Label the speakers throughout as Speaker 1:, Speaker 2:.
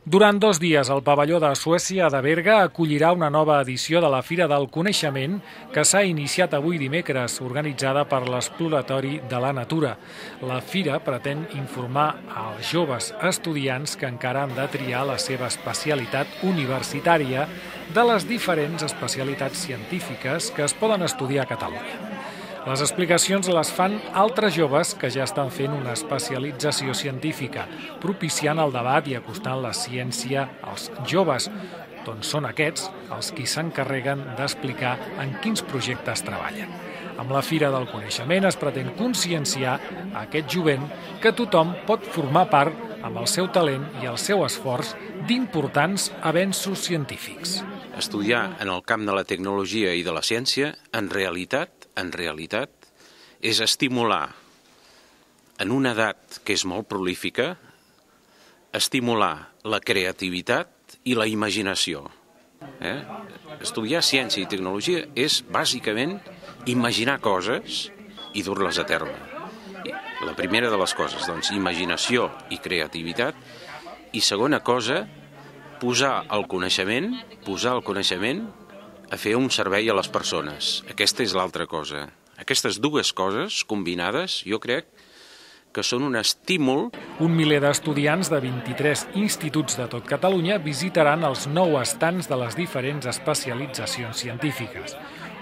Speaker 1: Durant 2 dies, el pavelló de Suècia de Berga acollirà una nova edició de la Fira del Coneixement que s'ha iniciat avui dimecres, organitzada per l'Exploratori de la Natura. La fira pretén informar als joves estudiants que encara han de triar la seva especialitat universitària de les diferents especialitats científiques que es poden estudiar a Catalunya. Les explicacions les fan altres joves que ja estan fent una especialització científica, propiciant el debat i acostant la ciència als joves, doncs són aquests els qui s'encarreguen d'explicar en quins projectes treballen. Amb la Fira del Coneixement es pretén conscienciar a aquest jovent que tothom pot formar part, amb el seu talent i el seu esforç, d'importants avenços científics.
Speaker 2: Estudiar en el camp de la tecnologia i de la ciència, en realitat, és estimular, en una edat que és molt prolífica, estimular la creativitat i la imaginació. Estudiar ciència i tecnologia és, bàsicament, imaginar coses i dur-les a terme. La primera de les coses, doncs, imaginació i creativitat, i segona cosa, posar el coneixement a fer un servei a les persones. Aquesta és l'altra cosa. Aquestes dues coses combinades, jo crec que són un estímul.
Speaker 1: Un miler d'estudiants de 23 instituts de tot Catalunya visitaran els 9 estands de les diferents especialitzacions científiques.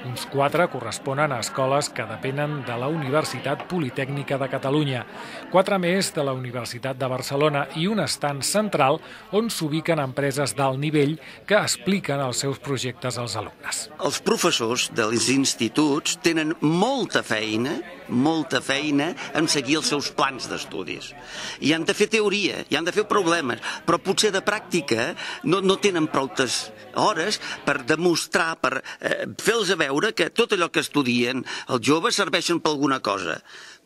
Speaker 1: Uns 4 corresponen a escoles que depenen de la Universitat Politècnica de Catalunya, 4 més de la Universitat de Barcelona i un estand central on s'ubiquen empreses d'alt nivell que expliquen els seus projectes als alumnes.
Speaker 3: Els professors dels instituts tenen molta feina en seguir els seus plans d'estudis. I han de fer teoria, i han de fer problemes, però potser de pràctica no tenen prou hores per demostrar, per fer-los veure que tot allò que estudien els joves serveixen per alguna cosa.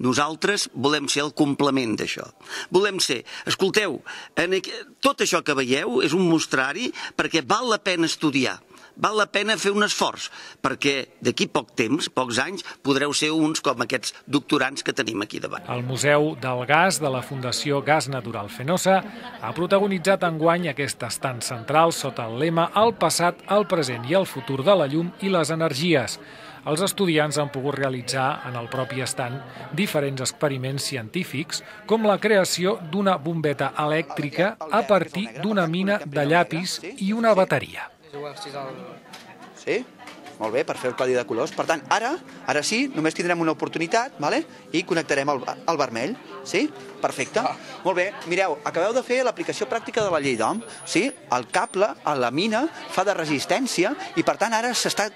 Speaker 3: Nosaltres volem ser el complement d'això. Volem ser, escolteu, tot això que veieu és un mostrari perquè val la pena estudiar. Val la pena fer un esforç, perquè d'aquí poc temps, pocs anys, podreu ser uns com aquests doctorants que tenim aquí davant.
Speaker 1: El Museu del Gas de la Fundació Gas Natural Fenosa ha protagonitzat enguany aquest estand central sota el lema "El passat, el present i el futur de la llum i les energies". Els estudiants han pogut realitzar en el propi estand diferents experiments científics, com la creació d'una bombeta elèctrica a partir d'una mina de llapis i una bateria.
Speaker 4: Sí? Molt bé, per fer el codi de colors. Per tant, ara sí, només tindrem una oportunitat, i connectarem el vermell. Sí? Perfecte. Molt bé, mireu, acabeu de fer l'aplicació pràctica de la llei d'Ohm. Sí? El cable a la mina fa de resistència i, per tant, ara s'està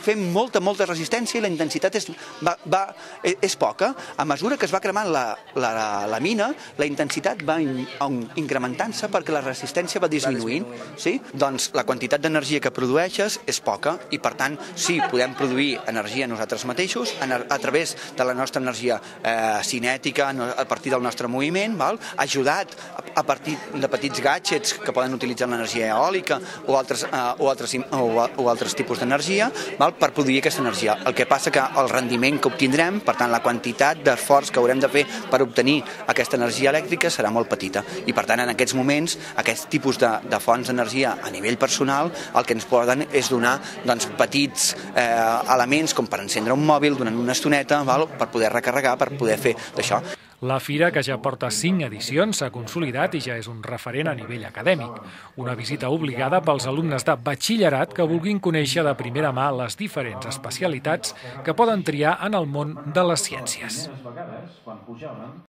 Speaker 4: fent molta resistència i la intensitat és poca. A mesura que es va cremant la mina, la intensitat va incrementant-se perquè la resistència va disminuint. Sí? Doncs la quantitat d'energia que produeixes és poca i, per tant, sí, podem produir energia nosaltres mateixos a través de la nostra energia cinètica, a partir del nostre moviment, ajudat a partir de petits gadgets que poden utilitzar l'energia eòlica o altres tipus d'energia, per produir aquesta energia. El que passa que el rendiment que obtindrem, per tant la quantitat d'esforç que haurem de fer per obtenir aquesta energia elèctrica serà molt petita i, per tant, en aquests moments, aquest tipus de fonts d'energia a nivell personal el que ens poden és donar petits elements com per encendre un mòbil durant una estoneta per poder recarregar, per poder fer d'això.
Speaker 1: La fira, que ja porta 5 edicions, s'ha consolidat i ja és un referent a nivell acadèmic. Una visita obligada pels alumnes de batxillerat que vulguin conèixer de primera mà les diferents especialitats que poden triar en el món de les ciències.